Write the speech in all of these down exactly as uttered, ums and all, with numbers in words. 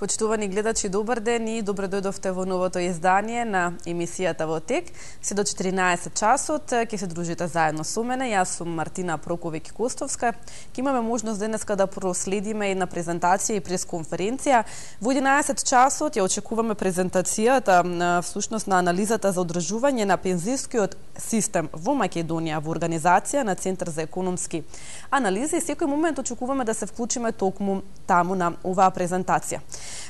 Почитувани гледачи, добар ден и добро дојдовте во новото издание на емисијата во ТЕК. Се до четиринаесет часот ќе се дружите заедно со мене. Јас сум Мартина Проковиќ-Костовска. Ќе имаме можност денеска да проследиме една презентација и пресконференција. Во единаесет часот ја очекуваме презентацијата всушност на анализата за одржување на пензискиот систем во Македонија во организација на Центар за економски анализи. Секој момент очекуваме да се вклучиме токму таму на оваа презентација.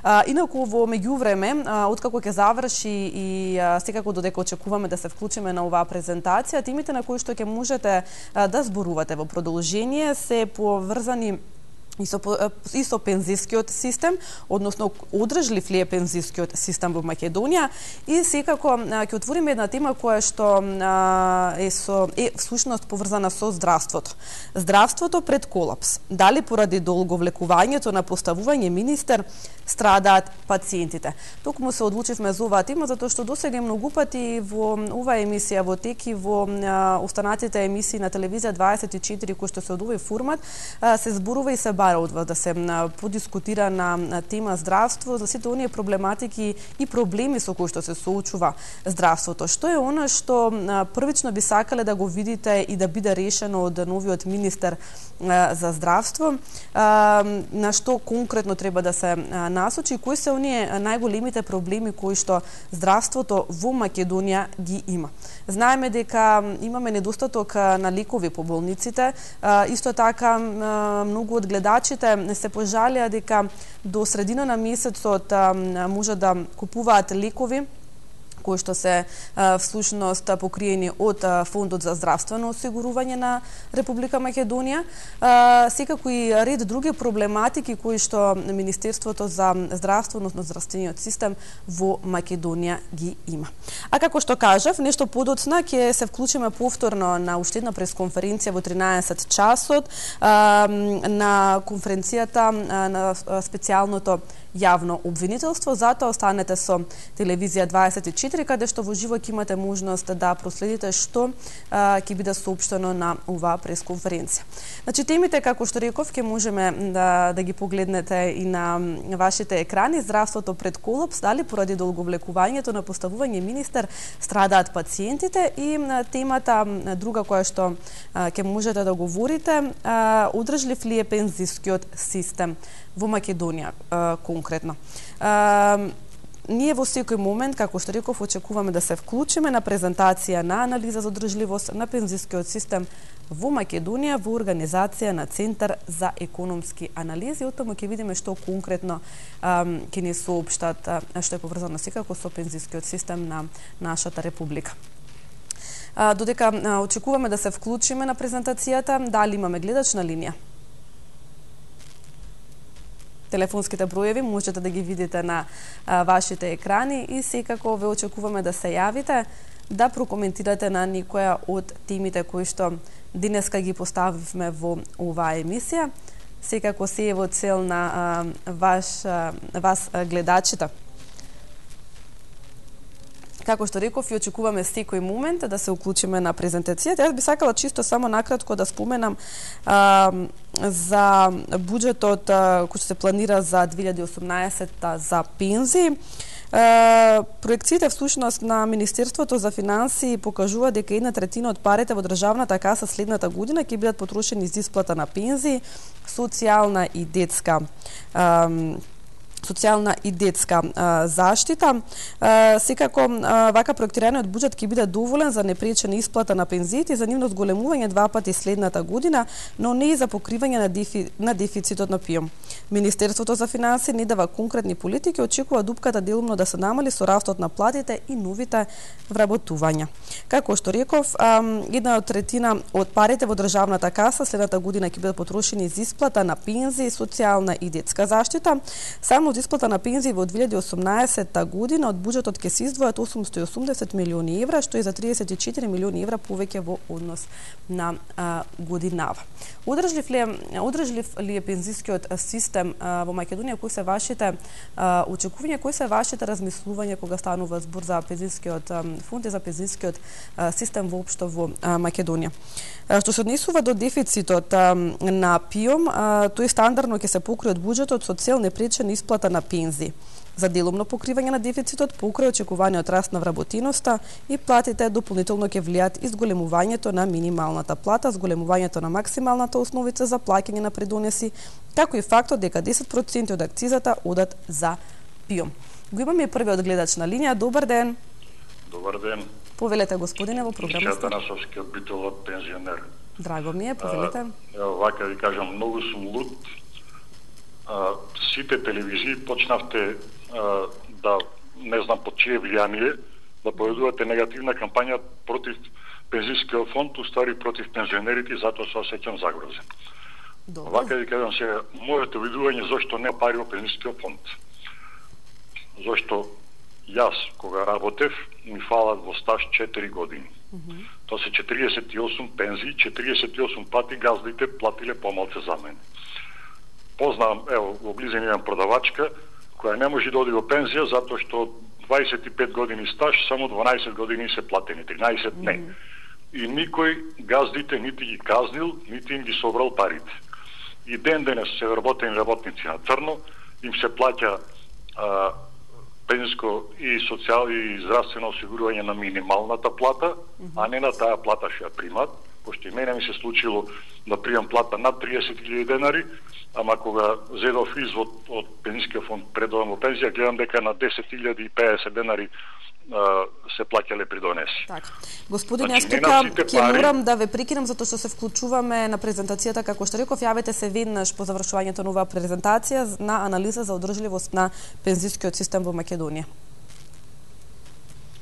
А, инаку во меѓувреме, откако ќе заврши и а, секако додека очекуваме да се вклучиме на оваа презентација, темите на кои што ќе можете а, да зборувате во продолжение се поврзани и со, и со пензискиот систем, односно одржлив ли е пензискиот систем во Македонија, и секако ќе отвориме една тема која што е со е всушност поврзана со здравството. Здравството пред колапс. Дали поради долговлекувањето на поставување министер страдаат пациентите? Токму се одлучивме за оваа тема затоа што досега многу пати во оваа емисија во ТЕК и во останатите емисии на телевизија дваесет и четири кои што се од овој формат се зборува и се да се подискутира на тема здравство, за сите оние проблематики и проблеми со кои што се соочува здравството. Што е она што првично би сакале да го видите и да биде решено од новиот министер за здравство, на што конкретно треба да се насочи и кои се оние најголемите проблеми кои што здравството во Македонија ги има. Знаеме дека имаме недостаток на лекови по болниците, исто така многу од гледачите се пожалија дека до средина на месецот може да купуваат лекови кои што се всушност покриени од Фондот за здравствено осигурување на Република Македонија, секако и ред други проблематики кои што Министерството за здравство, односно здравствениот систем во Македонија ги има. А како што кажав, нешто подоцна ќе се вклучиме повторно на уште една пресконференција во тринаесет часот на конференцијата на специјалното јавно обвинителство. Затоа останете со телевизија дваесет и четири, каде што во живо ќе имате можност да проследите што ќе биде соопштено на оваа пресконференција. Значи, темите, како што реков, ќе можеме да, да ги погледнете и на вашите екрани. Здравството пред колапс, дали поради долговлекувањето на поставување министер страдаат пациентите, и темата друга која што ќе можете да говорите, одржлив ли е пензискиот систем во Македонија конкретно. Ние во секој момент, како што реков, очекуваме да се вклучиме на презентација на анализа за одржливост на пензискиот систем во Македонија во организација на Центар за економски анализи. Оттаму ќе видиме што конкретно ќе ни соопштат, што е поврзано секако со пензискиот систем на нашата република. Додека очекуваме да се вклучиме на презентацијата, дали имаме гледач на линија? Телефонските броеви можете да ги видите на а, вашите екрани и секако ве очекуваме да се јавите, да прокоментирате на никоја од темите кои што денеска ги поставивме во оваа емисија. Секако се е во цел на а, ваш, а, вас а, гледачите. Како што реков, и очекуваме секој момент да се уклучиме на презентацијата. Јас би сакала чисто само накратко да споменам а, за буџетот а, кој се планира за две илјади и осумнаесетта за пензии. Uh, проекциите всушност на Министерството за финансии покажува дека една третина од парите во државната каса следната година ќе бидат потрошени за исплата на пензии, социјална и детска uh, социјална и детска а, заштита. А, секако а, вака проектираниот буџет ќе биде доволен за непречена исплата на пензиите и за нивно зголемување два пати следната година, но не и за покривање на, дефи, на дефицитот на ПИОМ. Министерството за финансии не дава конкретни политики, очекува дупката делумно да се намали со растот на платите и новите вработувања. Како што реков, а, една третина од парите во државната каса следната година ќе бидат потрошени за исплата на пензии, социјална и детска заштита. Само од исплата на пензии во две илјади и осумнаесетта година од буџетот ќе се издвојат осумстотини и осумдесет милиони евра, што е за триесет и четири милиони евра повеќе во однос на а, годинава. Одржлив ли е, одржлив ли е пензискиот систем а, во Македонија? Кои се вашите а, очекувања, кои се вашите размислувања кога станува збор за пензискиот а, фонд и за пензискиот а, систем воопшто во а, Македонија? А, што се однесува до дефицитот а, на ПИОМ, а, тој стандардно ќе се покри од буџетот со цел непречен исплат исплата на пензии. За делумно покривање на дефицитот покрај очекуваниот раст на вработеноста и платите дополнително ќе влијат и зголемувањето на минималната плата, зголемувањето на максималната основица за плаќање на придонеси, како и фактот дека десет проценти од акцизата одат за пио. Го имаме првиот гледач на линија. Добар ден. Добар ден. Повелете, господине, во програмата. Чета Насовскиот битолот пензионер. Драго ми е, повелете. Ево, вака ви кажам, многу сум луд. А, сите телевизии почнавте а, да, не знам под чие влијание, да поведувате негативна кампања против пензискиот фонд, уствари против пензионерите, затоа се осеќам загрозен. Добро. Вака ви кажам сега, моето видување зашто не пари во пензискиот фонд. Зашто јас, кога работев, ми фалат во стаж четири години. Mm -hmm. Тоа се четириесет и осум пензии, четириесет и осум пати газдите платиле помалце за мене. Познавам, ево, во близина имам продавачка, која не може да оди во пензија, затоа што дваесет и пет години стаж, само дванаесет години се платени, тринаесет не. Mm -hmm. И никој газдите нити ги казнил, нити им ги собрал парите. И ден денес се работени работници на црно, им се плаќа а, пензиско и социјално и здравствено осигурување на минималната плата, mm -hmm. а не на таа плата што ја примат, пошто и мене ми се случило да примам плата над триесет илјади денари, ама кога зедов извод од пензискиот фонд предодам во пензија, гледам дека на десет илјади и педесет денари а, се плаќале придонеси. Така. Господин, значи, јас тука ќе пари... морам да ве прекинам затоа што се вклучуваме на презентацијата, како што реков, јавете се веднаш по завршувањето на оваа презентација на анализа за одржливост на пензискиот систем во Македонија.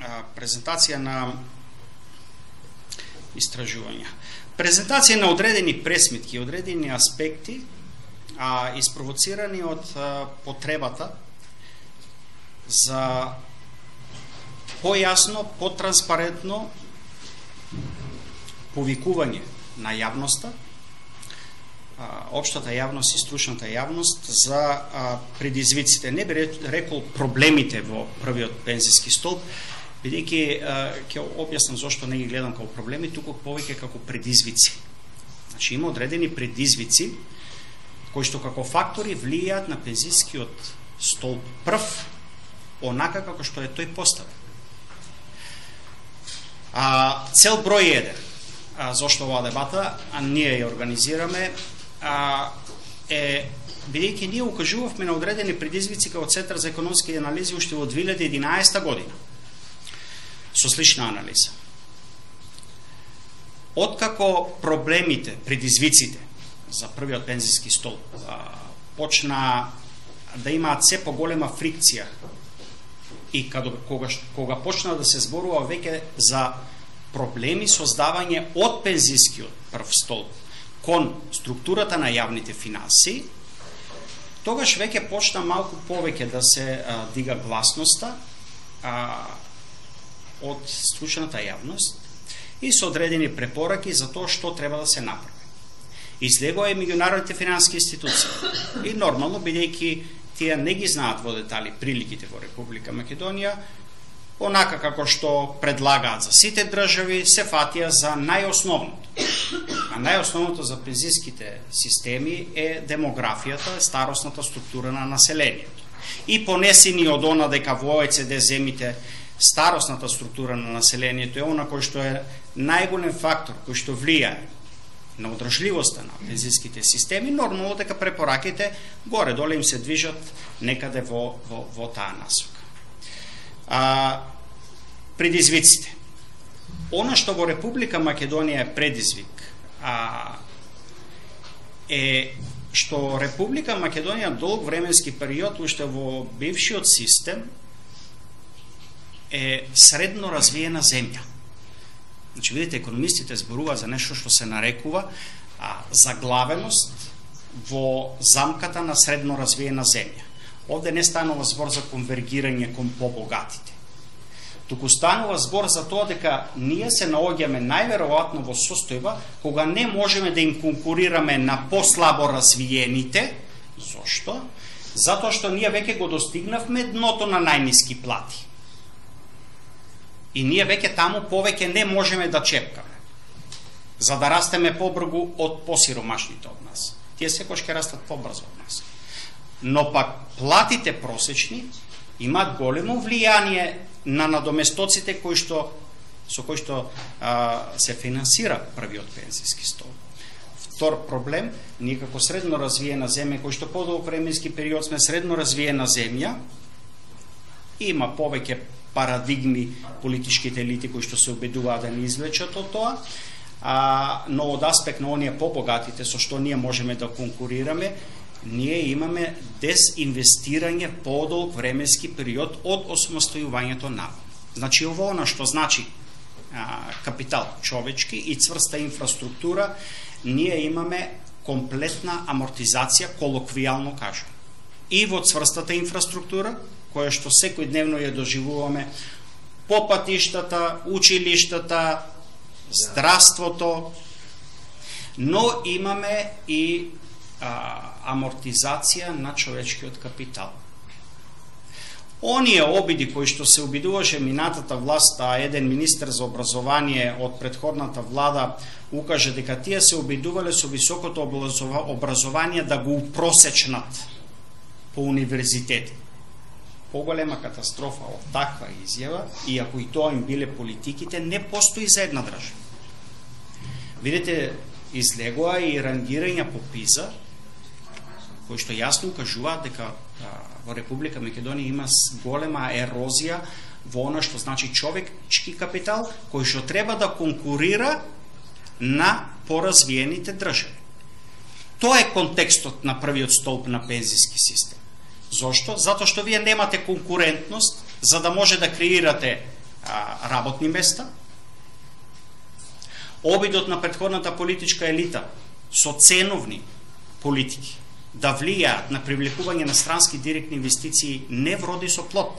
А, презентација на истражувања. Презентација на одредени пресмитки, одредени аспекти, а испровоцирани од а, потребата за појасно, потранспарентно повикување на јавноста, а, општата јавност и стручната јавност за а, предизвиците. Не би рекол проблемите во првиот пензиски столб, бидејќи ќе објаснам зошто не ги гледам како проблеми, туку повеќе како предизвици. Значи има одредени предизвици кои што како фактори влијаат на пензискиот столб прв, онака како што е тој поставен. А, цел број еден, а, зошто оваа дебата, а ние ја организираме, а, е бидејќи ние укажувавме на одредени предизвици како Центар за економски анализи уште во две илјади и единаесета година, со слична анализа. Откако проблемите, предизвиците за првиот пензиски столб а, почна да имаат се поголема фрикција и кога, кога, кога почна да се зборува веќе за проблеми создавање од пензискиот прв столб кон структурата на јавните финанси, тогаш веќе почна малку повеќе да се а, дига гласноста а, од стручната јавност и со одредени препораки за тоа што треба да се направи. Излегува и меѓународните финансиски институции. И нормално, бидејќи тие не ги знаат во детали приликите во Република Македонија, онака како што предлагаат за сите држави, се фатија за најосновното. А најосновното за пензиските системи е демографијата, старосната структура на населението. И понесени од она дека во О Е Це Де земите старосната структура на населението е она кој што е најголем фактор кој што влијае на одржливоста на пензиските системи, нормално дека препораките горе-доле им се движат некаде во, во, во таа насока. А, предизвиците. Она што во Република Македонија е предизвик а, е што Република Македонија долг временски период уште во бившиот систем е средно развиена земја. Значи, видите, економистите зборуваат за нешто што се нарекува а, заглавеност во замката на средно развиена земја. Овде не станува збор за конвергирање кон побогатите. Туку станува збор за тоа дека ние се наоѓаме најверојатно во состојба кога не можеме да им конкурираме на послабо развиените. Зошто? Затоа што ние веќе го достигнавме дното на најниски плати. И ние веќе таму повеќе не можеме да чепкаме, за да растеме побрзо од посиромашните од нас. Тие секој ќе растат побрзо од нас. но пак платите просечни имаат големо влијание на надоместоците кои што со кои што а, се финансира првиот пензиски столб. Втор проблем, ние како средно развиена земја, кој што подолг временски период сме средно развиена земја, има повеќе парадигми политичките елити кои што се обидуваат да не извлечат од тоа, а, но од аспект на оние побогатите со што ние можеме да конкурираме, ние имаме дезинвестирање подолг временски период од осамостојувањето на. Значи, ово она што значи а, капитал човечки и цврста инфраструктура, ние имаме комплетна амортизација, колоквијално кажам. И во цврстата инфраструктура, која што секојдневно ја доживуваме по патиштата, училиштата, здравството, но имаме и а, амортизација на човечкиот капитал. Оние обиди кои што се обидуваше минатата власт, а еден министер за образование од претходната влада укаже дека тие се обидувале со високото образование да го упросечнат по универзитети. Поголема катастрофа од таква изјава, иако и тоа им биле политиките, не постои за една држава. Видите, излегоа и рангирања по ПИЗа, кои што јасно укажуваат дека во Република Македонија има голема ерозија во она што значи човечки капитал, кој што треба да конкурира на поразвиените држави. Тоа е контекстот на првиот столб на пензиски систем. Зошто? Затоа што вие немате конкурентност за да може да креирате а, работни места. Обидот на претходната политичка елита со ценовни политики да влијаат на привлекување на странски директни инвестиции не вроди со плод.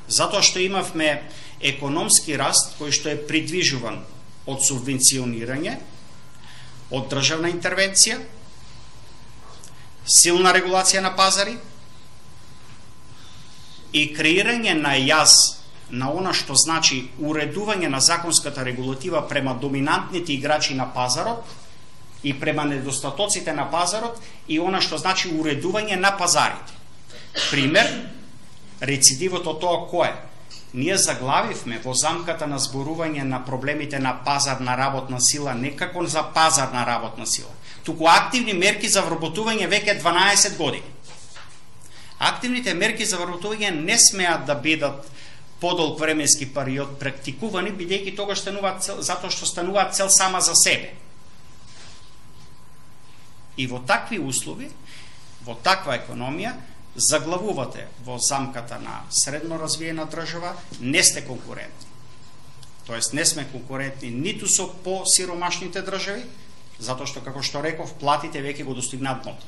Затоа што имавме економски раст кој што е придвижуван од субвенционирање, од државна интервенција, силна регулација на пазари и креирање на јаз на она што значи уредување на законската регулатива према доминантните играчи на пазарот и према недостатоците на пазарот и она што значи уредување на пазарите. Пример, рецидивот од тоа кој? Ние заглавивме во замката на зборување на проблемите на пазар на работна сила не како за пазар на работна сила, туку активни мерки за вработување веќе дванаесет години. Активните мерки за вработување не смеат да бидат подолг временски период практикувани, бидејќи тогаш стануваат цел, затоа што стануваат цел сама за себе. И во такви услови, во таква економија, заглавувате во замката на средно развиена држава, не сте конкурентни. Тоест, не сме конкурентни ниту со посиромашните држави, затоа што, како што реков, платите веќе го достигнаат дното.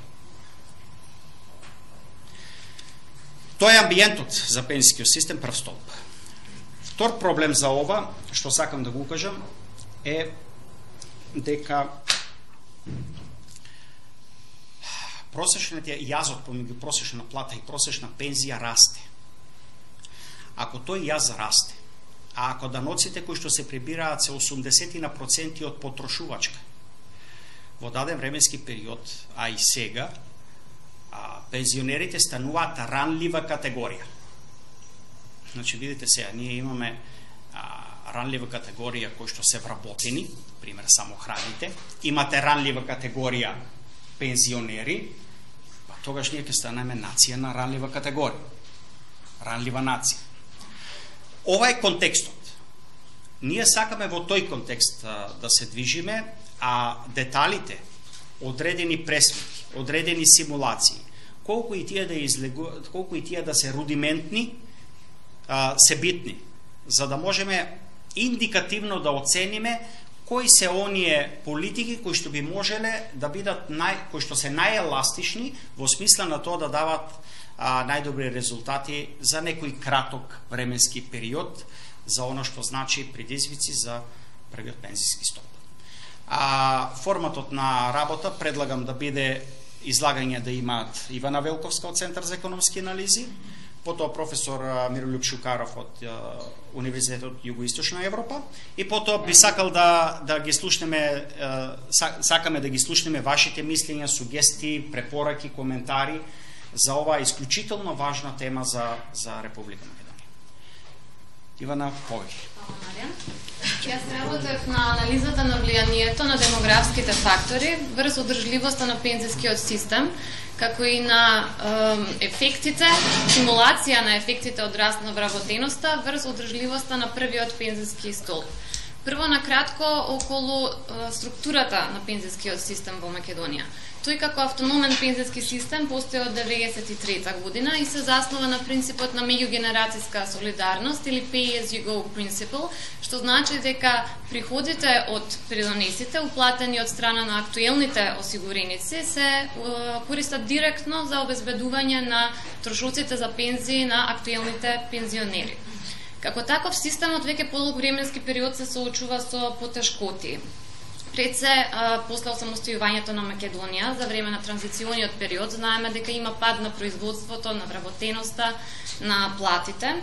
Тоа е амбиентот за пензискиот систем, прв столб. Втор проблем за ова, што сакам да го кажам, е дека просечниот јазот помеѓу просечна плата и просечна пензија расте. Ако тој јаз расте, а ако даноците кои што се прибираат се осумдесет проценти од потрошувачка, во даден временски период, а и сега, а, пензионерите стануваат ранлива категорија. Значи, видите сега, ние имаме а, ранлива категорија кои што се вработени, пример самохраните, имате ранлива категорија пензионери, па тогаш ние ќе станеме нација на ранлива категорија. Ранлива нација. Ова е контекстот. Ние сакаме во тој контекст а, да се движиме, а деталите, одредени пресвити, одредени симулации, колку и тие да излегу, колку и тие да се рудиментни, а, се битни, за да можеме индикативно да оцениме кои се оние политики кои што би можеле да бидат нај, кои што се најеластични во смисла на тоа да дават а, најдобри резултати за некој краток временски период, за она што значи предизвици за првиот пензиски столб. А форматот на работа предлагам да биде излагање да имаат Ивана Велковска од Центар за економски анализи, потоа професор Мирољуб Шукаров од Универзитетот Југоисточна Европа, и потоа би сакал да да ги слушнеме, сакаме да ги слушнеме вашите мислења, сугестии, препораки, коментари за оваа исклучително важна тема за за Република Македонија. Ивана, повеќе. Јас работев на анализата на влијанието на демографските фактори врз одржливоста на пензискиот систем, како и на е, ефектите, симулација на ефектите од раст на вработеноста врз одржливоста на првиот пензиски столб. Прво на кратко околу е, структурата на пензискиот систем во Македонија. Тој како автономен пензиски систем постои од деветдесет и трета година и се заснова на принципот на меѓугенерацијска солидарност или pay as you go principle, што значи дека приходите од придонесите уплатени од страна на актуелните осигуреници се е, користат директно за обезбедување на трошоците за пензии на актуелните пензионери. Како таков, системот веќе подолг временски период се соочува со потешкоти. Пред се, после осамостојувањето на Македонија, за време на транзициониот период, знаеме дека има пад на производството, на вработеноста, на платите,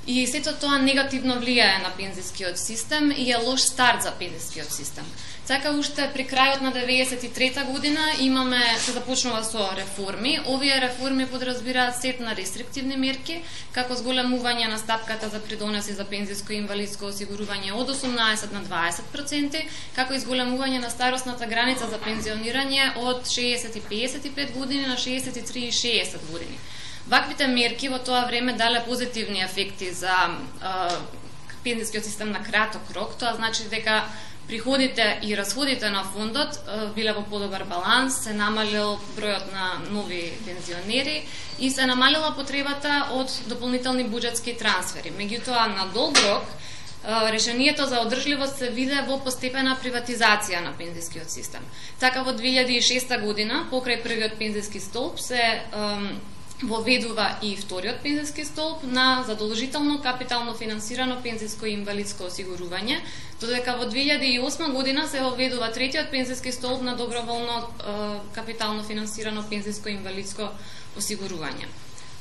и сето тоа негативно влијае на пензискиот систем и е лош старт за пензискиот систем. Така уште при крајот на деветдесет и трета година имаме, се започнува со реформи. Овие реформи подразбираат сет на рестриктивни мерки, како зголемување на стапката за придонеси за пензиско и инвалидско осигурување од осумнаесет на дваесет проценти, како и зголемување на старосната граница за пензионирање од шеесет и песет и пет години на шеесет и три и шеесет години. Ваквите мерки во тоа време дале позитивни ефекти за е, пензискиот систем на краток рок. Тоа значи дека приходите и расходите на фондот е, биле во подобар баланс, се намалил бројот на нови пензионери и се намалила потребата од дополнителни буџетски трансфери. Меѓутоа, на долг рок, решението за одржливост се виде во постепена приватизација на пензискиот систем. Така во две илјади и шеста година, покрај првиот пензиски столб, се е, воведува и вториот пензиски столб на задолжително капитално финансирано пензиско и инвалидско осигурување, додека во две илјади и осма година се воведува третиот пензиски столб на доброволно е, капитално финансирано пензиско и инвалидско осигурување.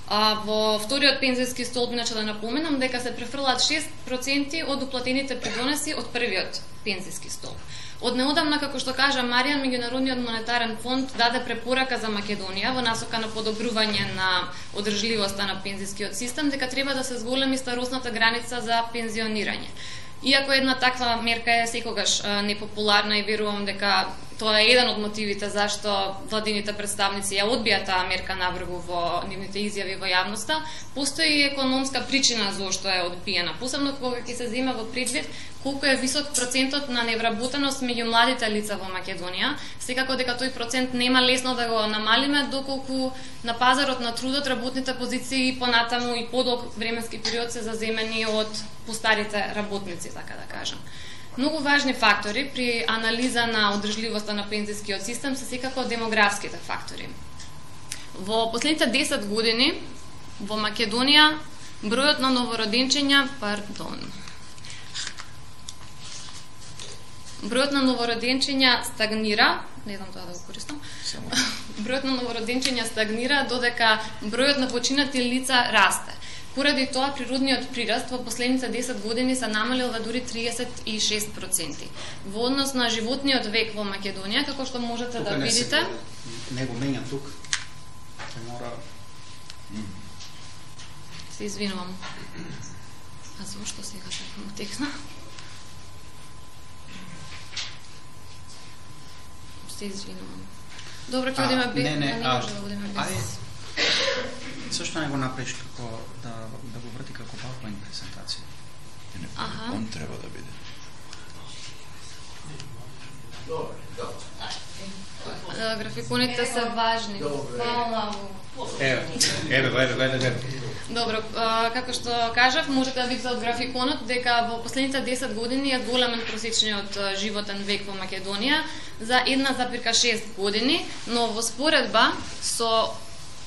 А во вториот пензиски столб, иначе да напоменам дека се префрлаат шест проценти од уплатените придонеси од првиот пензиски столб. Од неодамна, како што кажа Маријан, Меѓународниот монетарен фонд даде препорака за Македонија во насока на подобрување на одржливоста на пензискиот систем, дека треба да се зголеми старосната граница за пензионирање. Иако една таква мерка е секогаш непопуларна и верувам дека тоа е еден од мотивите зашто владините представници ја одбија таа мерка навргу во нивните изјави во јавноста, постои и економска причина зошто е одбиена, посебно кога ќе се зема во предвид колку е висок процентот на невработеност меѓу младите лица во Македонија. Секако дека тој процент нема лесно да го намалиме, доколку на пазарот на трудот работните позиции понатаму и подолг временски период се заземени од постарите работници, така да кажам. Многу важни фактори при анализа на одржливоста на пензискиот систем се секако демографските фактори. Во последните десет години во Македонија бројот на новороденчиња, пардон, бројот на новороденчиња стагнира, не знам тоа да го користам, бројот на новороденчиња стагнира, додека бројот на починати лица расте. Поради тоа, природниот прираст во последните десет години се намалил во дури триесет и шест проценти. Во однос на животниот век во Македонија, како што можете тука да видите... Не, не го менја тук. Се мора... Се извинувам. А зошто сега се му текна? Се извинувам. Добро, ќе одиме без... Не, не, не а... може да одиме без... Зошто не го направиш како да, да го врти како PowerPoint презентација? Аха. Он треба да биде. Графиконите се важни. Фала. Еве, еве, еве, еве. Добро, како што кажав, можете да видите од графиконот дека во последните десет години е големен просечниот животен век во Македонија за една запирка шест години, но во споредба со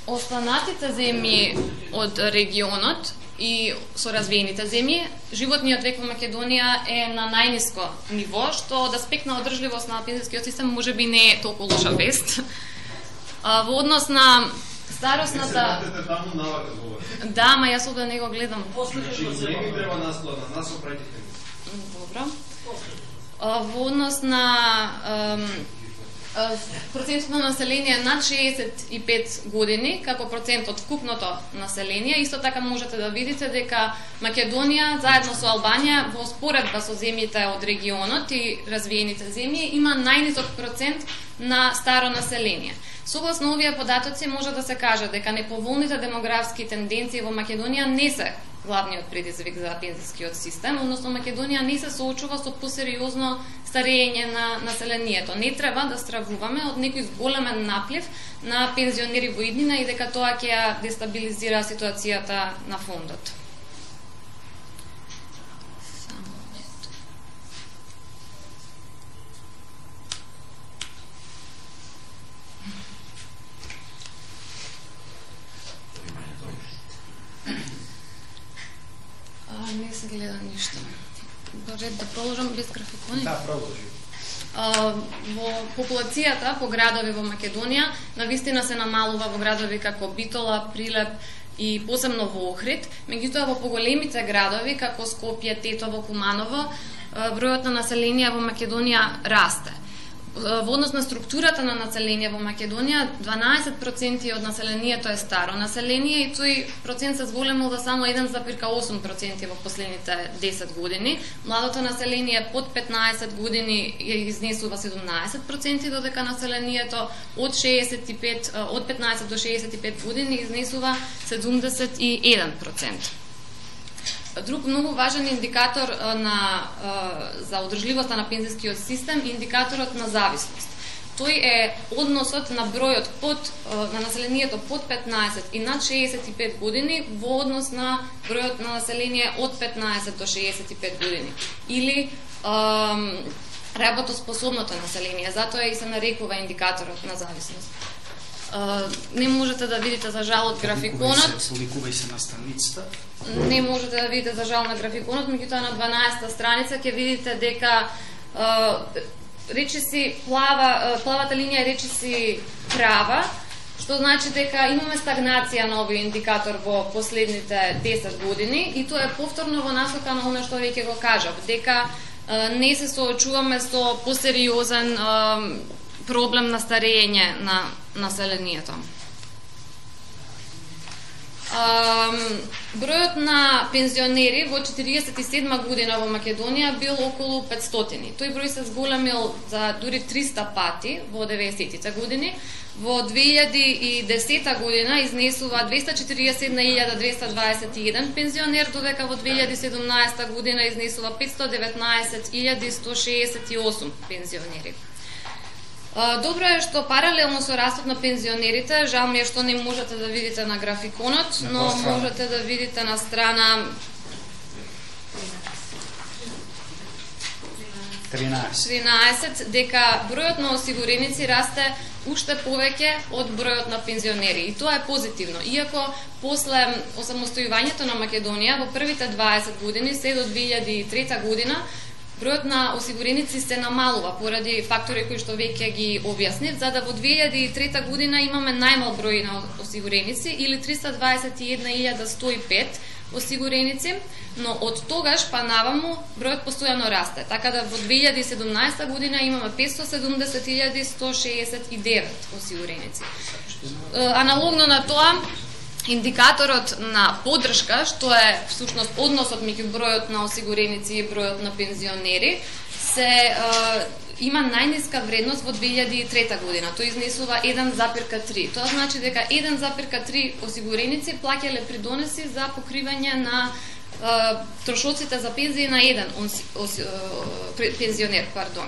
останатите земји од регионот и со развиените земји, животниот век во Македонија е на најниско ниво, што од аспект на одржливост на пензискиот систем можеби не е толку лоша вест. Во однос на Старосната... Да, ма јас овде не го гледам. Не ми треба наслова, на нас опретите. Добро. Во однос на процентот на население над шеесет и пет години, како процент од вкупното население, исто така можете да видите дека Македонија, заедно со Албанија, во споредба со земјите од регионот и развиените земји, има најнисок процент на старо население. Согласно овие податоци може да се каже дека неповолните демографски тенденции во Македонија не се главниот предизвик за пензискиот систем, односно Македонија не се соочува со посериозно старење на населението. Не треба да стравуваме од некој зголемен наплив на пензионери во иднина и дека тоа ќе ја дестабилизира ситуацијата на фондот. Не се гледа ништо. Ред да продолжам без графикони? Да, продолжи. Во популацијата по градови во Македонија навистина се намалува во градови како Битола, Прилеп и посебно во Охрид, меѓутоа во поголемите градови како Скопје, Тетово, Куманово, бројот на население во Македонија расте. Во однос на структурата на население во Македонија, дванаесет проценти од населението е старо население и тој процент се зголемил за само еден зарез осум проценти во последните десет години. Младото население под петнаесет години изнесува седумнаесет проценти, додека населението од шеесет и пет од петнаесет до шеесет и пет години изнесува седумдесет и еден процент. Друг многу важен индикатор на, за одржливоста на пензискиот систем е индикаторот на зависност. Тој е односот на бројот под, на населението под петнаесет и над шеесет и пет години во однос на бројот на население од петнаесет до шеесет и пет години. Или ем, работоспособното население, затоа и се нарекува индикаторот на зависност. Uh, не можете да видите за жал од графиконот. Поликувај се на страницата. Не можете да видите за жал на графиконот, меѓутоа на дванаесетта страница ќе видите дека uh, речиси плава, uh, плавата линија е речиси права, што значи дека имаме стагнација на овој индикатор во последните десет години и тоа е повторно во насока на оно што веќе го кажав, дека uh, не се соочуваме со посериозен uh, проблем на старење на населението. Бројот на пензионери во четириесет и седма година во Македонија бил околу петстотини. Тој број се зголемил за дури триста пати во деветдесеттите години. Во две илјади и десета година изнесува двеста четириесет и една илјада двеста дваесет и еден пензионер, додека во две илјади и седумнаесета година изнесува петстотини и деветнаесет илјади сто шеесет и осум пензионери. Добро е што паралелно со растот на пензионерите, жал ми е што не можете да видите на графиконот, но можете да видите на страна тринаесет дека бројот на осигуреници расте уште повеќе од бројот на пензионери. И тоа е позитивно. Иако после осамостојувањето на Македонија во првите дваесет години, се до две илјади и трета година, бројот на осигуреници се намалува поради фактори кои што веќе ги објаснив, за да во две илјади и трета година имаме најмал број на осигуреници или триста дваесет и една илјада сто и пет осигуреници, но од тогаш па наваму бројот постојано расте. Така да во две илјади и седумнаесета година имаме петстотини и седумдесет илјади сто шеесет и девет осигуреници. Аналогно на тоа, индикаторот на поддршка, што е всушност односот меѓу бројот на осигуреници и бројот на пензионери, се е, има најниска вредност во две илјади и трета година. Тој изнесува еден зарез три. Тоа значи дека еден зарез три осигуреници плаќале придонеси за покривање на е, трошоците за пензии на еден оси, оси, е, пензионер, пардон.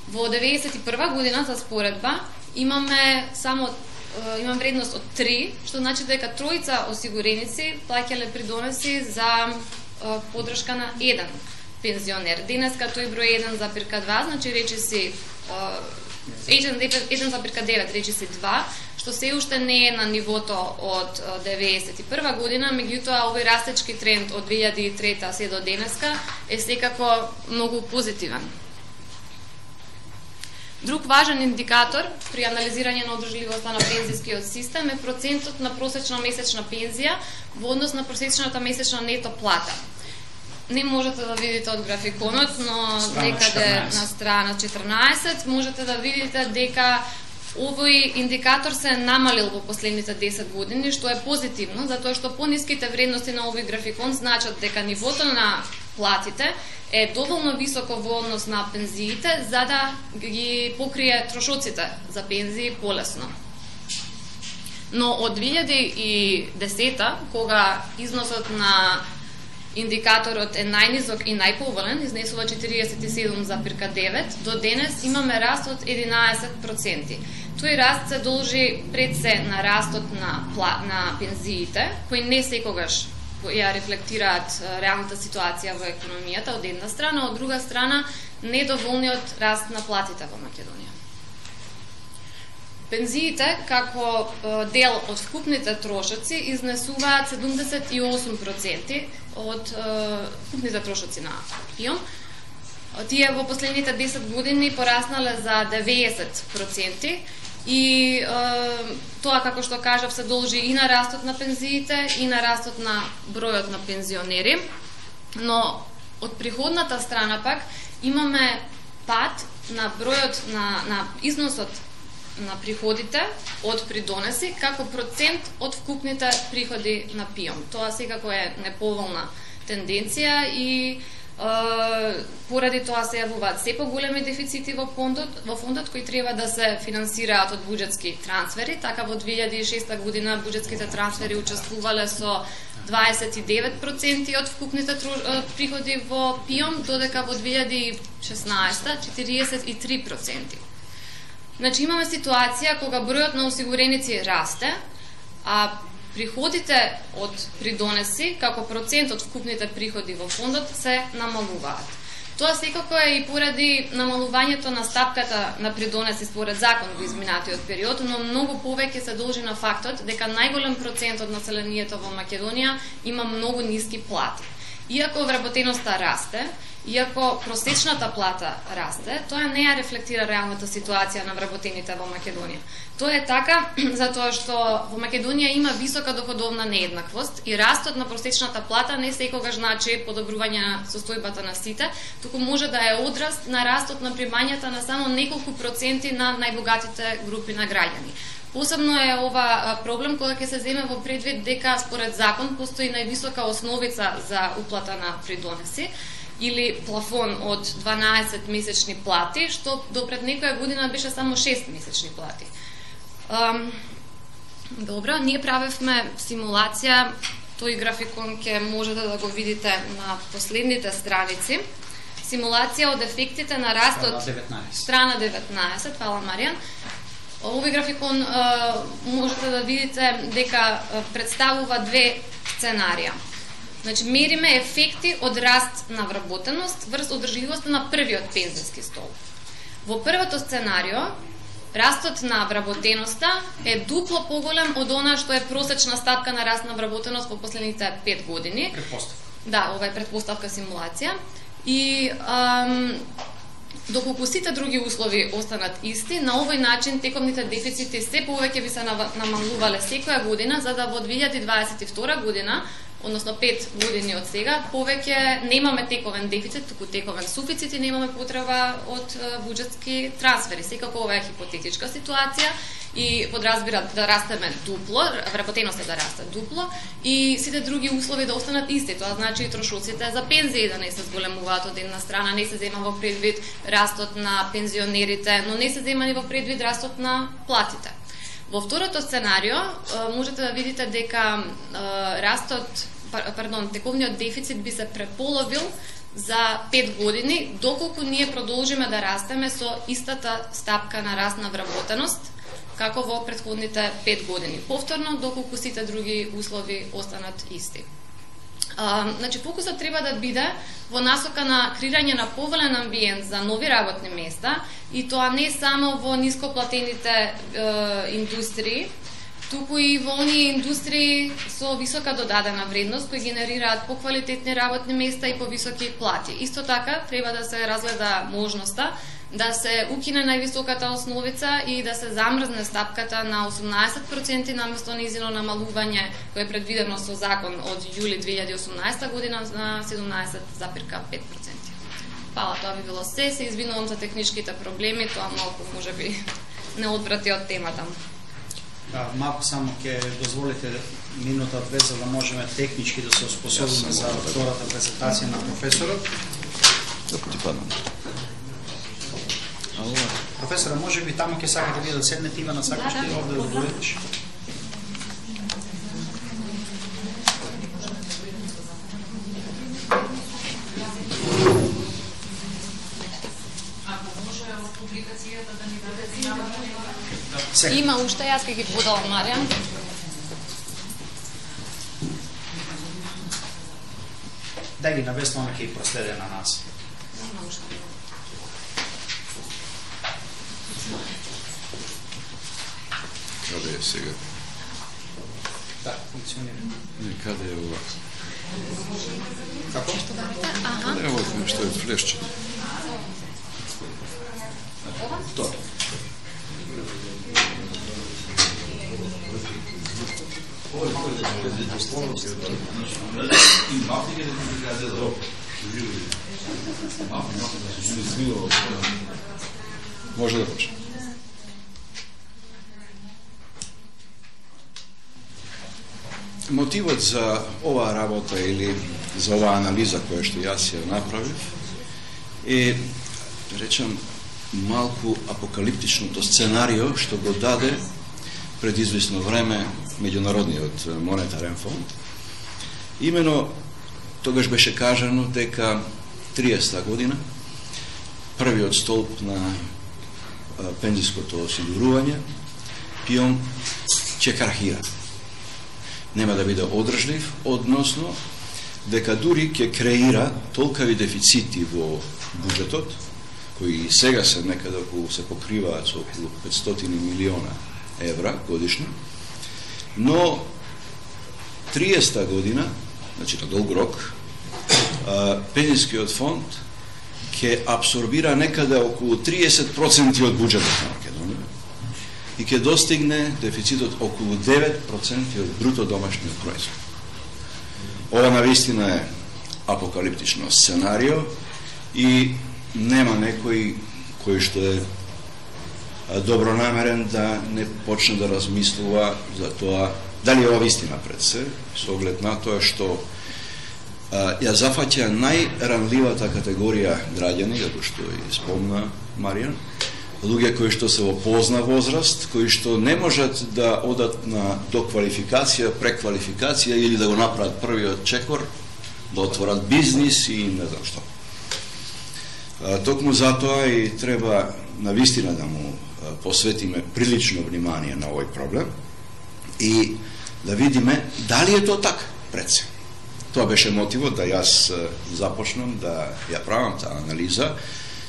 Во деветдесет и прва година за споредба имаме само имам вредност од три, што значи дека тројца осигуреници плаќале придонеси за поддршка на еден пензионер. Денеска тој број еден зарез два, значи речиси еден зарез девет, речиси два, што се уште не е на нивото од деветдесет и прва година, меѓутоа овој растечки тренд од две илјади и трета се до денеска е секако многу позитивен. Друг важен индикатор при анализирање на одржливоста на пензискиот систем е процентот на просечна месечна пензија во однос на просечната месечна нето плата. Не можете да видите од графиконот, но некаде на страна четрнаесет можете да видите дека овој индикатор се намалил во последните десет години, што е позитивно, затоа што пониските вредности на овој графикон значат дека нивото на платите е доволно високо во однос на пензиите, за да ги покрие трошоците за пензии полесно. Но од две илјади и десета, кога износот на индикаторот е најнизок и најповолен, изнесува четириесет и седум запирка девет, до денес имаме раст од единаесет проценти. Тој раст се должи пред се на растот на, на пензиите, кои не секогаш ја рефлектираат реалната ситуација во економијата од една страна, од друга страна недоволниот раст на платите во Македонија. Пензиите, како дел од вкупните трошоци, изнесуваат седумдесет и осум проценти од вкупните трошоци на ПИОМ. Тие во последните десет години пораснале за деветдесет проценти и е, тоа, како што кажав, се должи и на растот на пензиите и на растот на бројот на пензионери, но од приходната страна пак имаме пад на бројот на, на износот на приходите од придонеси како процент од вкупните приходи на ПИОМ. Тоа секако е неповолна тенденција и Uh, поради тоа се јавуваат се поголеми дефицити во фондот, во фондот кои треба да се финансираат од буџетски трансфери. Така во две илјади и шеста година буџетските трансфери учествувале со дваесет и девет проценти од вкупните приходи во ПИОМ, додека во две илјади и шеснаесета четириесет и три проценти. Значи имаме ситуација кога бројот на осигуреници расте, а приходите од придонеси, како процент од вкупните приходи во фондот, се намалуваат. Тоа секако е и поради намалувањето на стапката на придонеси според закон во изминатиот период, но многу повеќе се должи на фактот дека најголем процент од населението во Македонија има многу ниски плати. Иако вработеноста расте, иако просечната плата расте, тоа не ја рефлектира реалната ситуација на вработените во Македонија. Тоа е така затоа што во Македонија има висока доходовна нееднаквост и растот на просечната плата не секогаш значи подобрување на состојбата на сите, туку може да е одраз на растот на примањата на само неколку проценти на најбогатите групи на граѓани. Посебно е ова проблем кога ќе се земе во предвид дека според закон постои највисока основица за уплата на придонеси или плафон од дванаесет месечни плати, што до пред некоја година беше само шест месечни плати. Um, добро, ние правевме симулација, тој графикон ќе можете да го видите на последните страници. Симулација од ефектите на растот страна деветнаесет, фала Маријан. Овој графикон uh, можете да видите дека uh, представува две сценарија. Значи, мериме ефекти од раст на вработеност врз одржливоста на првиот пензиски столб. Во првото сценарио, растот на вработеноста е дупло поголем од она што е просечна стапка на раст на вработеност во последните пет години. Предпоставка. Да, ова е предпоставка симулација. И ам, доколку сите други услови останат исти, на овој начин тековните дефицити се повеќе би се намалувале секоја година, за да во две илјади дваесет и втора година, односно пет години од сега, повеќе немаме тековен дефицит, туку тековен суфицит и немаме потреба од буџетски трансфери. Секако ова е хипотетичка ситуација и подразбира да растеме дупло, вработеноста да расте дупло и сите други услови да останат исти. Тоа значи и трошоците за пензии да не се зголемуваат од една страна, не се зема во предвид растот на пензионерите, но не се зема ни во предвид растот на платите. Во второто сценарио можете да видите дека растот, пардон, тековниот дефицит би се преполовил за пет години, доколку ние продолжиме да растеме со истата стапка на раст на вработеност, како во претходните пет години. Повторно, доколку сите други услови останат исти. А, значи, фокусот треба да биде во насока на креирање на поволен амбиент за нови работни места и тоа не само во нископлатените е, индустрии, туку и во оние индустрии со висока додадена вредност кои генерираат поквалитетни работни места и повисоки плати. Исто така треба да се разгледа можноста да се укине највисоката основица и да се замрзне стапката на осумнаесет проценти наместо низино намалување кој е предвидено со закон од јули две илјади и осумнаесета година на седумнаесет зарез пет проценти. Фала, тоа би било се, се извинувам за техничките проблеми, тоа малку можеби не одврати од темата. Да, малку само ќе дозволите минута две за да можеме технички да се оспособиме за втората презентација на професорот. Да ти падам. Професора, може би таму ќе сакате вие да седнете, има на сакаш ти овде да говориш. Има уште, јас ќе ги подалам, Маријан. Да ги навестуваме ќе ги проследе на нас. Каде е сега? Да, функционира. Не, каде е ова? Како? Каде е ова што е флешче? Тоа. Може да почне. Мотивот за оваа работа или за оваа анализа која што јас ја направив е, речам, малку апокалиптичното сценарио што го даде пред известно време Меѓународниот монетарен фонд. Имено тогаш беше кажано дека триесета година првиот столб на пензиското осигурување ПИОМ ќе крахира. Нема да биде одржлив, односно дека дури ќе креира толкави дефицити во буџетот, кои сега се некаде околу се покриваат со околу петстотини милиона евра годишно, но триесета година, значи на долг рок, пензискиот фонд ќе абсорбира некаде околу триесет проценти од буџетот на Македонија и ќе достигне дефицитот околу девет проценти од бруто домашниот производ. Ова навистина е апокалиптично сценарио и нема некој кој што е добронамерен да не почне да размислува за тоа дали е ова вистина пред се, со оглед на тоа што а, ја зафаќа најранливата категорија граѓани, како што и спомна Маријан, луѓе кои што се во позна возраст, кои што не можат да одат на доквалификација, преквалификација или да го направат првиот чекор, да отворат бизнис и не знам што. А, токму затоа и треба навистина да му посветиме прилично внимание на овој проблем и да видиме дали е тоа така пред се. Тоа беше мотивот да јас започнам да ја правам таа анализа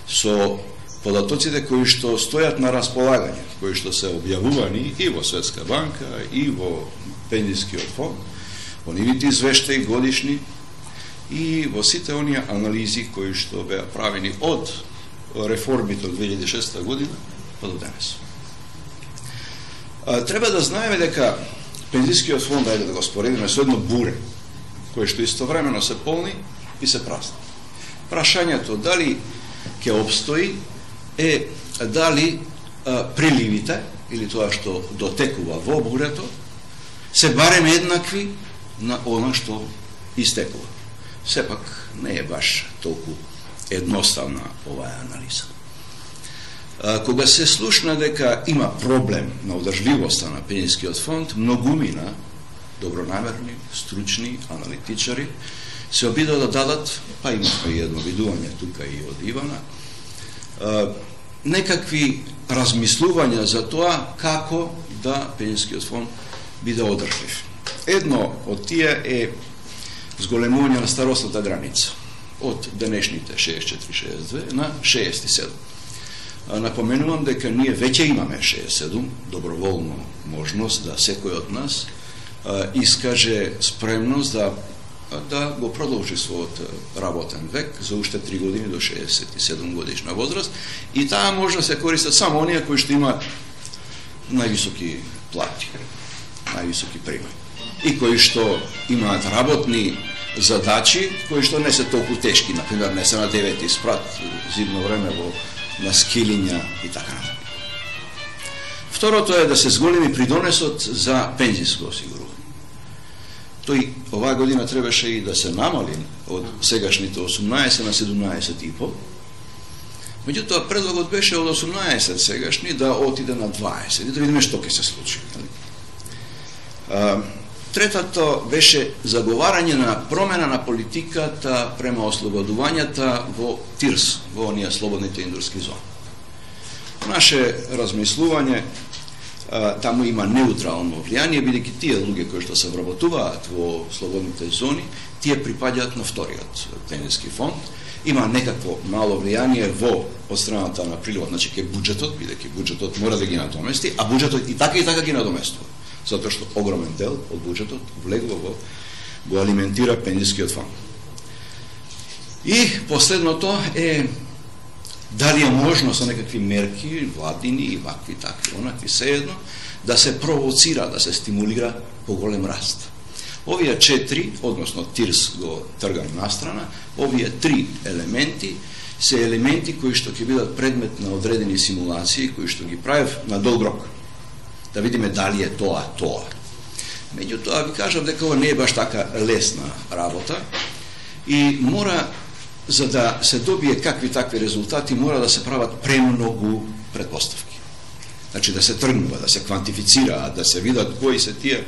со податоците кои што стојат на располагање, кои што се објавувани и во Светска банка, и во Пензискиот фонд, во нивните извештаи годишни и во сите оние анализи кои што беа правени од реформите од две илјади и шеста година па до денес. А, треба да знаеме дека Пензискиот фонд, ајде да го споредиме со едно буре, кој што истовремено се полни и се празни. Прашањето дали ќе обстои е дали а, приливите, или тоа што дотекува во бурето, се барем еднакви на она што истекува. Сепак не е баш толку едноставна оваа анализа. А, кога се слушна дека има проблем на одржливоста на Пензискиот фонд, многумина добронамерни, стручни аналитичари се обидоа да дадат, па имавме и едно видување тука и од Ивана, а, некакви размислувања за тоа како да Пензискиот фонд биде одржлив. Едно од тие е зголемување на старосната граница од денешните шеесет и четири шеесет и две на шеесет и седум. Напоменувам дека ние веќе имаме шеесет и седум, доброволно можност да секој од нас а, искаже спремност да да го продолжи својот работен век за уште три години до шеесет и седум годишна возраст, и таа може да се користат само оние кои што имаат највисоки плати, највисоки примања, и кои што имаат работни задачи кои што не се толку тешки, например не се на девети спрат зимно време во на скилиња и така натаму. Второто е да се зголеми придонесот за пензиско осигурување. Тој оваа година требаше и да се намали од сегашните осумнаесет на седумнаесет и пол. Меѓутоа предлогот беше од осумнаесет сегашни да отиде на дваесет и да видиме што ќе се случи. Третото беше заговарање на промена на политиката према ослободувањата во ТИРС, во оние слободните индустријски зони. Наше размислување, таму има неутрално влијание, бидејќи тие луѓе кои што се вработуваат во слободните зони, тие припаѓаат на вториот пензиски фонд. Има некакво мало влијание во од страната на приливот, значи ке буџетот, бидејќи буџетот мора да ги надомести, а буџетот и така и така ги надоместува, затоа што огромен дел од буџетот влегува во го алиментира пензискиот фонд. И последното е дали е можно со некакви мерки, владини и вакви, такви, онакви, сеедно, да се провоцира, да се стимулира поголем раст. Овие четири, односно ТИРС го тргам настрана, овие три елементи се елементи кои што ќе бидат предмет на одредени симулации, кои што ги правев на долг рок. Да видиме дали е тоа тоа. Меѓутоа ви кажам дека ова не е баш така лесна работа и мора, за да се добие какви такви резултати, мора да се прават премногу предпоставки. Значи да се тргнува, да се квантифицира, да се видат кои се тие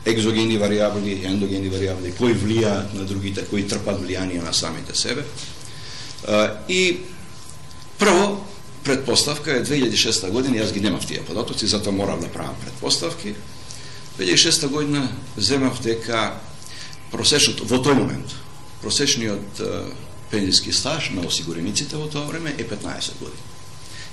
екзогени варијабли, ендогени варијабли, кои влијаат на другите, кои трпат влијание на самите себе. И прво предпоставка е две илјади и шеста година, јас ги немав тие податоци, затоа морав да правам предпоставки. две илјади и шеста година земав дека просечното, во тој момент, просечниот пензиски стаж на осигурениците во тоа време е петнаесет години.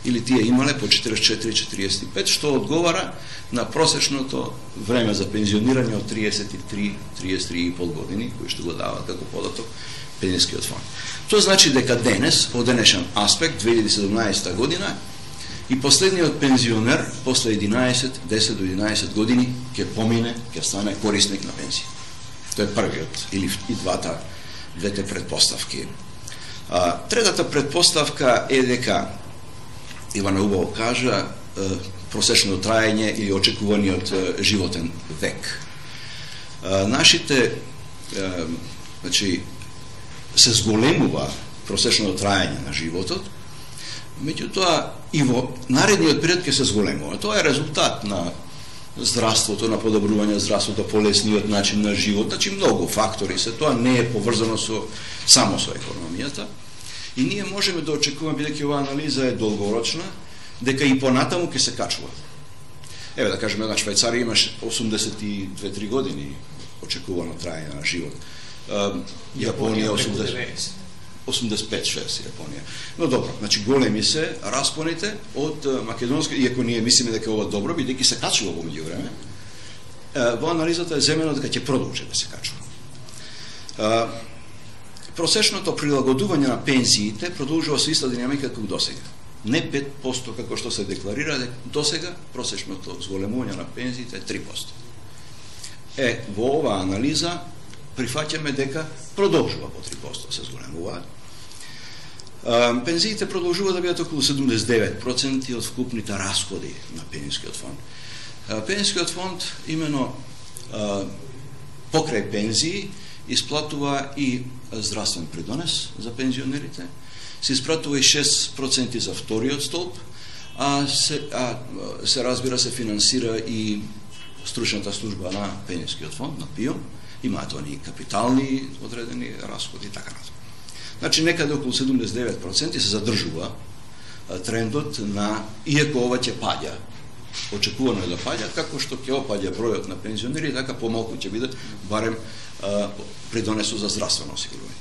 Или тие имале по четиридесет и четири до четиридесет и пет, што одговара на просечното време за пензионирање од триесет и три до триесет и три и пол години, кои што го дават како податок пензискиот фонд. Тоа значи дека денес, од денешен аспект, две илјади и седумнаесета година, и последниот пензионер после единаесет, десет до единаесет години ќе помине, ќе стане корисник на пензија. Тоа е првиот, или и двата, двете предпоставки. А, третата предпоставка е дека, Ивана убаво кажа, просечно траење или очекуваниот животен век. А, нашите, а, значи, се зголемува просечното траење на животот, меѓутоа и во наредниот период ќе се зголемува. Тоа е резултат на здравството, на подобрување здравството, полесниот начин на живот, значи многу фактори се, тоа не е поврзано со само со економијата. И ние можеме да очекуваме, бидејќи оваа анализа е долгорочна, дека и понатаму ќе се качува. Еве да кажеме, една Швајцарија имаш осумдесет и две до три години очекувано траење на живот. Јапонија осумдесет и пет шест Јапонија. Но добро, значи големи се распоните од македонска, иако ние мислиме дека ова добро, бидејќи се качува во меѓувреме, во анализата е земено дека ќе продолжи да се качува. Просечното прилагодување на пензиите продолжува со иста динамика како досега. Не пет проценти како што се декларира, досега просечното зголемување на пензиите е три проценти. Е, во оваа анализа прифаќаме дека продолжува по три проценти се зголемуваат. Пензиите продолжува да бидат околу седумдесет и девет проценти од вкупните расходи на пензискиот фонд. Пензискиот фонд имено покрај пензии исплатува и здравствен придонес за пензионерите, се испратува и шест проценти за вториот столб, а се, а, се разбира се финансира и стручната служба на пензискиот фонд, на ПИО, имаат они капитални одредени расходи и така натаму. Значи некаде околу седумдесет и девет проценти се задржува трендот на, иако ова ќе паѓа, очекувано е да паѓа, како што ќе опаѓа бројот на пензионери, така помалку ќе биде барем а, придонесот за здравствено осигурување.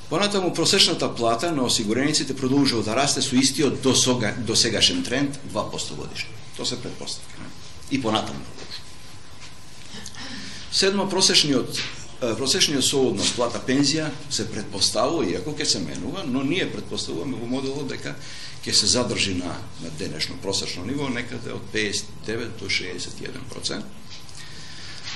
Понатаму просечната плата на осигурениците продолжува да расте со истиот до сегашен тренд два проценти годишно. Тоа се предпоставки. И понатаму продолжува. Седмо, просечниот просечниот соводност плата пензија се претпоставува, иако ќе се менува, но ние претпоставуваме во моделот дека ќе се задржи на, на денешно просечно ниво некаде од педесет и девет до шеесет и еден процент.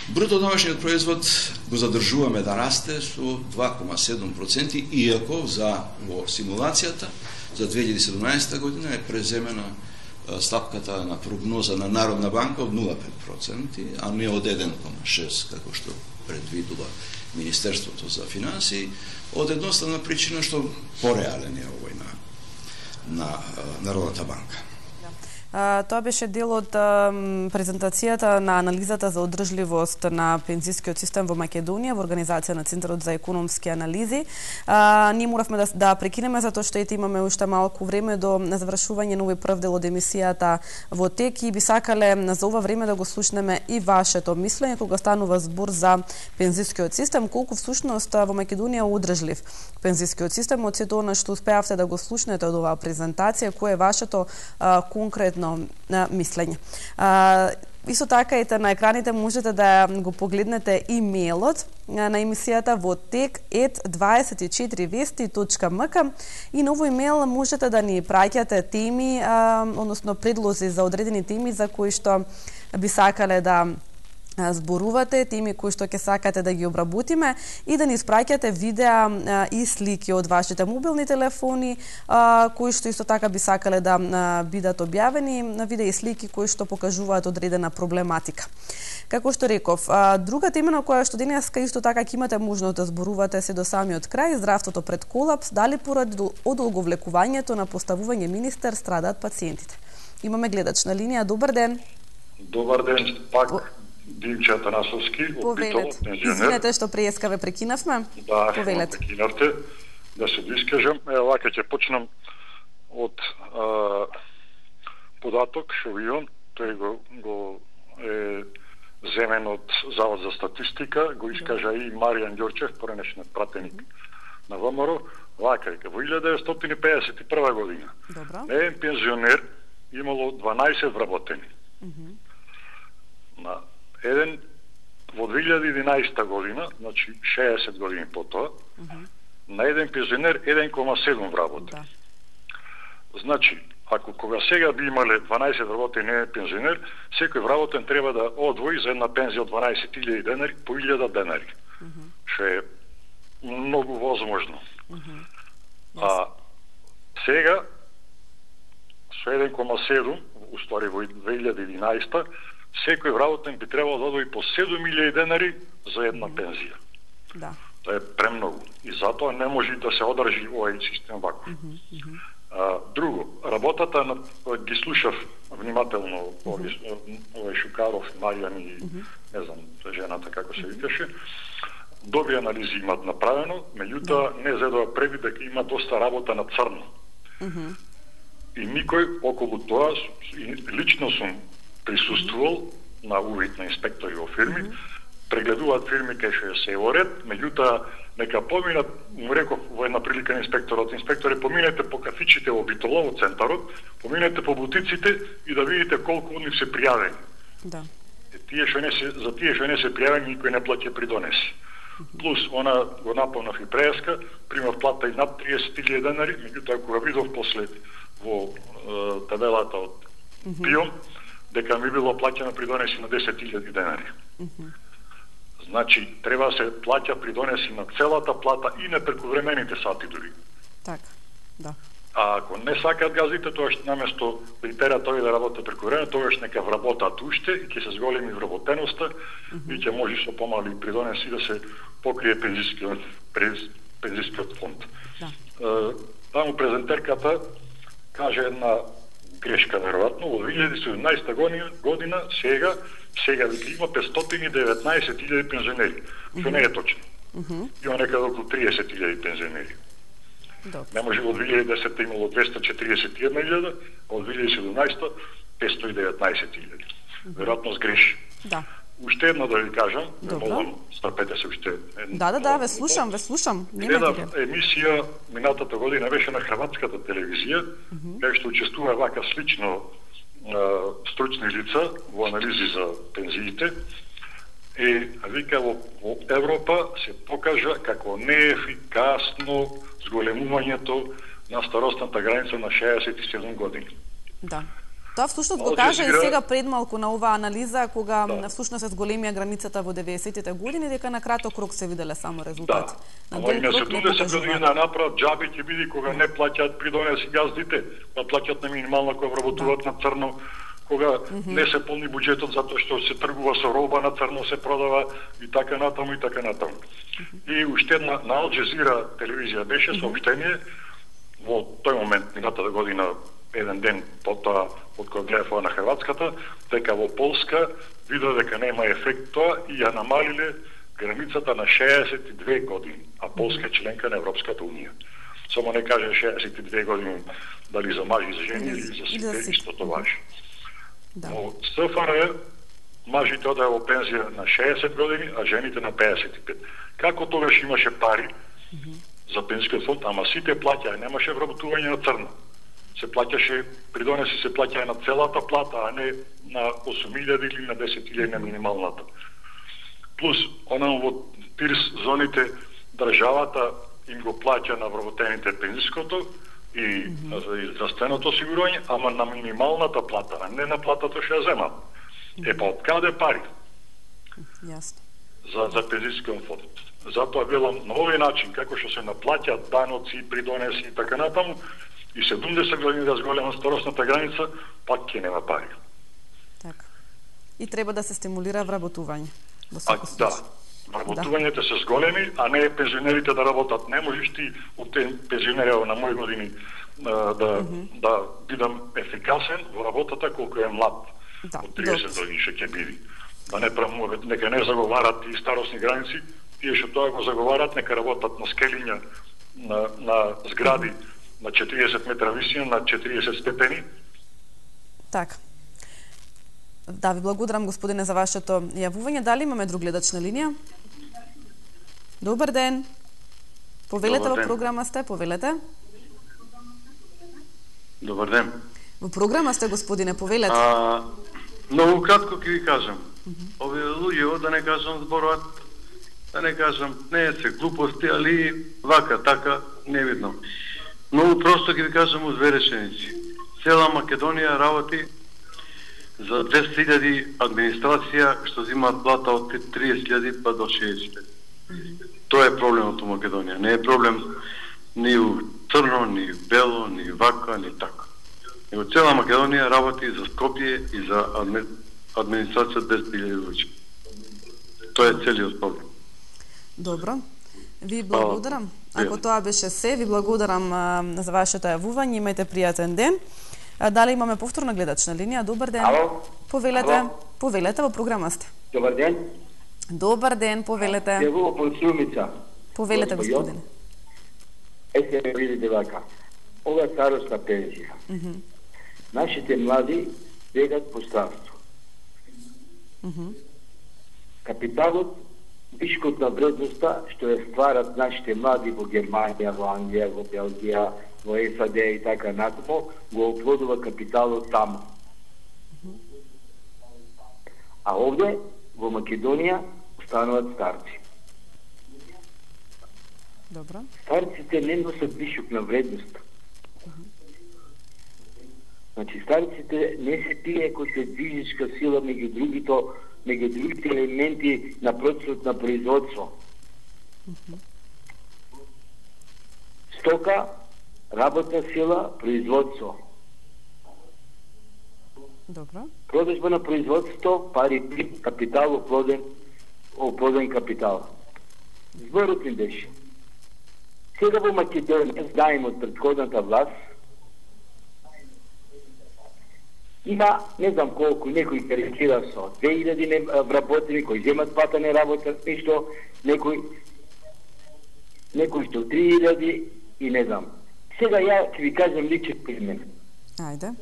Бруто домашниот производ го задржуваме да расте со два кома седум проценти, иако за во симулацијата за две илјади и седумнаесета година е преземена стапката на прогноза на Народна банка од нула целу пет проценти, а не од еден кома шест како што предвидува Министерството за финансии, од едноставна причина што пореален е овој на на Народната банка. Uh, тоа беше дел од uh, презентацијата на анализата за одржливост на пензискиот систем во Македонија во организација на Центарот за економски анализи. Uh, ние моравме да, да прекинеме затоа што ете имаме уште малку време до завршување на овој прв дел од емисијата во тек и би сакале за ова време да го слушнеме и вашето мислење кога станува збор за пензискиот систем, колку всушност во Македонија е одржлив пензискиот систем, од сето она што успеавте да го слушнете од оваа презентација, кое е вашето uh, конкретно на мислење. А, исто така ете на екраните можете да го погледнете имејлот на емисијата во тек ет дваесет и четири вести точка ем ка и на овој имејл можете да ни праќате теми, а, односно предлози за одредени теми за кои што би сакале да зборувате, теми кои што ќе сакате да ги обработиме и да ни испраќате видеа а, и слики од вашите мобилни телефони, а, кои што исто така би сакале да а, бидат објавени, на видеа и слики кои што покажуваат одредена проблематика. Како што реков, а, друга тема на која што денеска исто така ќе имате можност да зборувате се до самиот крај, здравството пред колапс, дали поради одолговлекувањето на поставување министер страдаат пациентите. Имаме гледач на линија, добар ден. Добар ден, пак Димче Атанасовски, од Битол, пензионер. Извинете што преска ве прекинавме. Да, повелете. Прекинавте. Да се дискажам. Е, вака ќе почнам од а, податок, шовион, тој го, го е земен од Завод за статистика, го искажа и Маријан Ѓорчев, поранешниот пратеник на ВМРО. Вака е, во илјада деветстотини и педесет и прва година. Добро. Еден пензионер имало дванаесет вработени. Mm -hmm. На еден во две илјади и единаесета година, значи шеесет години потоа, uh -huh. на еден пензионер еден кома седум вработен. Да. Значи, ако кога сега би имале дванаесет вработени еден пензионер, секој вработен треба да одвои за една пензија од дванаесет илјади денари по илјада денари. Uh -huh. Што е многу возможно. Uh -huh. Yes. А сега со еден кома седум, уствари во две илјади и единаесета, секој вработен би требало да одвои по седум илјади денари за една пензија. Да. Тоа е премногу. И затоа не може да се одржи овој систем ваков. Uh -huh, uh -huh. А, друго, работата на ги слушав внимателно овој uh -huh. Шукаров, Маријан и uh -huh. не знам, жената како се викаше. Добри анализи имат направено, меѓутоа uh -huh. не зедува предвид дека има доста работа на црно. Uh -huh. И никој околу тоа, лично сум присуствувал на увид на инспектори во фирми, mm -hmm. прегледуваат фирми кај што се во ред, меѓутоа нека поминат, му реков во една прилика на инспекторот, инспекторе, поминете по кафичите во Битола, во центарот, поминете по бутиците и да видите колку од нив се пријавени. Да. Е, тие што не се, за тие што не се пријавени, никој не плаќа придонеси. Mm -hmm. Плюс, она го напълнав и преска, примав плата и над триесет илјади денари, меѓутоа кога видов после во е, табелата од mm -hmm. ПИОМ, дека ми било плаќано придонеси на десет илјади денари. Mm -hmm. Значи, треба се плаќа придонеси на целата плата и на прековремените сати дури. Така, да. А ако не сакаат газите, тоа што наместо притерат тој да работи прековремено, тогаш нека вработат уште и ќе се зголеми вработеноста mm -hmm. и ќе може со помали придонеси да се покрие пензискиот пензискиот фонд. Да. Е, таму презентерката каже една грешка веројатно, во две илјади и седумнаесета година сега сега веќе има петстотини и деветнаесет илјади пензионери, што не е точно. Mm -hmm. Има некаде околу триесет илјади пензионери. Не може во две илјади и десета имало двеста четириесет и една илјада, а во две илјади и седумнаесета петстотини и деветнаесет илјади. Веројатно сгреши. Да. Уште една да ви кажам, молам, страпете се уште една. Да, да, да, ве слушам, ве слушам. Една емисија минатата година беше на хрватската телевизија, mm -hmm. кај што учествува вака слично а, стручни лица во анализи за пензиите е, вика, во, во Европа се покажа како неефикасно зголемувањето на старосната граница на шеесет и седум години. Да. Тоа всушност го Ал кажа и Джазира- сега пред малку на оваа анализа, кога Да. всушност се зголемија границата во деветдесетите години, дека на краток рок се виделе само резултати. Да. На Ама и долг на рок не седумдесет години покажуваат. да направат џабе ќе биде кога не плаќаат придонеси газдите, да плаќаат на минимална, кога вработуваат на црно, кога не се полни буџетот затоа што се тргува со роба на црно, се продава и така натаму и така натаму. И уште една на Ал Джазира телевизија беше соопштение во тој момент минатата година, еден ден потоа од кога гледав на Хрватската, дека во Полска видоа дека нема ефект тоа и ја намалиле границата на шеесет и две години, а Полска е членка на Европската унија. Само не каже шеесет и две години дали за мажи и за жени или за Или за сите сите. истото важи. Да. Во СФР мажите одеа во пензија на шеесет години, а жените на пеесет и пет. Како тогаш имаше пари за пензискиот фонд, ама сите плаќаа, немаше вработување на црно. Се плаќаше, придонеси се плаќаа на целата плата, а не на осум илјади или на десет илјади на минималната. Плюс, онам во ТИРС зоните државата им го плаќа на вработените пензиското и, и здравственото осигурување, ама на минималната плата, а не на платата што ја земат. Е па од каде пари Јасно. за, за пензискиот фонд? Затоа велам на овој начин, како што се наплаќаат даноци, придонеси и така натаму, и седумдесет години да зголема старосната граница, пак ќе нема пари. Така. И треба да се стимулира вработување. Во А, секој да, случај. вработувањето се зголеми, а не пензионерите да работат. Не можеш ти од те пензионери на мои години а, да, mm -hmm. да бидам ефикасен во работата колку е млад. Да, Од триесет години што ќе биде. Да не прамуват, нека не заговарат и старосни граници, тие што тоа го заговарат, нека работат на скелиња, на, на згради на четириесет метра висина, на четириесет степени. Така. Да, ви благодарам, господине, за вашето јавување. Дали имаме друг гледач на линија? Добар ден. Повелете, Добар во ден. програма сте, повелете. Добар ден. Во програма сте, господине, повелете. А, многу кратко ќе ви кажам. Овие луѓе, да не кажам зборот, да не кажам, не се глупости, али вака, така, не видно. Многу просто ќе ви кажам у две реченици. Цела Македонија работи за двесте илјади администрација што земаат плата од триесет илјади па до шеесет. Тоа е проблемот у Македонија. Не е проблем ни у црно, ни бело, ни вака, ни така. Него цела Македонија работи за Скопје и за адми... администрација двесте илјади луѓе. Тоа е целиот проблем. Добро. Ви благодарам. Хвала. Ако тоа беше се, ви благодарам а, за вашето јавување. Имајте пријатен ден. А, дали имаме повторна гледачна линија? Добар ден. Ало? Повелете. Ало? Повелете, во програма сте. Добар ден. Добар ден, повелете. Јавува по Сумица. Повелете, Господјо. господине. Е, се видите вака. Ова старосна пензија. Mm -hmm. Нашите млади бегат по странство. Mm -hmm. Капиталот, вишкот на вредноста што ја стварат нашите млади во Германија, во Англија, во Белгија, во САД и така натаму, го оплодува капиталот таму. А овде, во Македонија, остануваат старци. Добро. Старците не носат вишок на вредност. Значи, старците не се тие кои се движечка сила меѓу другите, меѓу другите елементи на процесот на производство. Стока, работна сила, производство. Добро. Продажба на производството, пари, капитал, оплоден, оплоден капитал. Зборот ми беше. Сега во Македонија, знаем од претходната власт, има, не знам колку, некои карикира со две илјади вработени, кои земат плата не работат ништо, некои некои што три илјади и не знам. Сега ја ќе ви кажам личен пример. Ајде.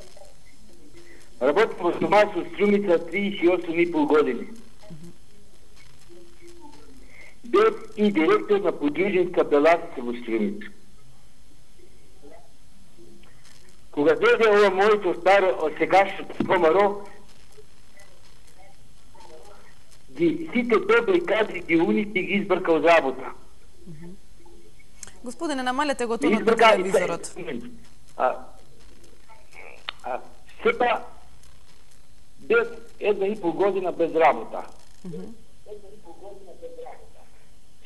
Работам во Стомас со Струмица триесет и осум и пол години. Бев и директор на подружинска беларница во Струмица. Кога дојде ова моето старо, сегашното комаро, ги сите добри кадри ги унити и ги избрка од работа. Господине, намалете го тонот на телевизорот. А, а сепа без една и пол година без работа.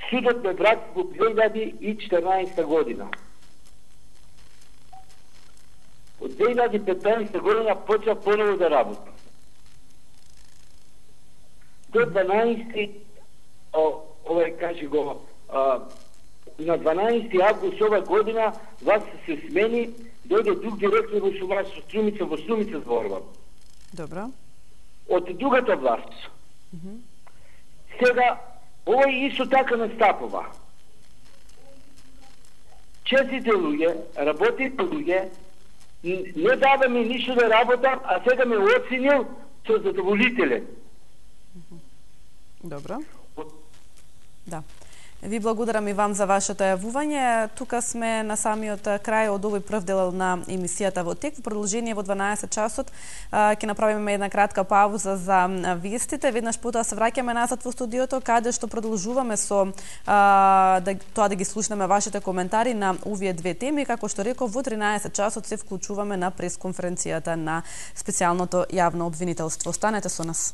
Судот ме врати во две илјади и четиринаесета година. Од две илјади и петнаесета година почнав поново да работам. До дванаесети, овај кажи го, а, на дванаесети август ова година вас се смени, дојде друг директор во Шумарство Струмица, во Струмица зборувам. Добро. Од другата власт. Mm -hmm. Сега, овој исто така настапува. Честите луѓе, работите луѓе, не дава ми ништо да работам, а сега ме оценил со задоволителен. Добро. Да. Ви благодарам и вам за вашето јавување. Тука сме на самиот крај од овој прв дел на емисијата во тек. Во продолжение во дванаесет часот ќе направиме една кратка пауза за вестите. Веднаш потоа се враќаме назад во студиото, каде што продолжуваме со а, да, тоа да ги слушнеме вашите коментари на овие две теми. Како што реков, во тринаесет часот се вклучуваме на пресконференцијата на специјалното јавно обвинителство. Останете со нас.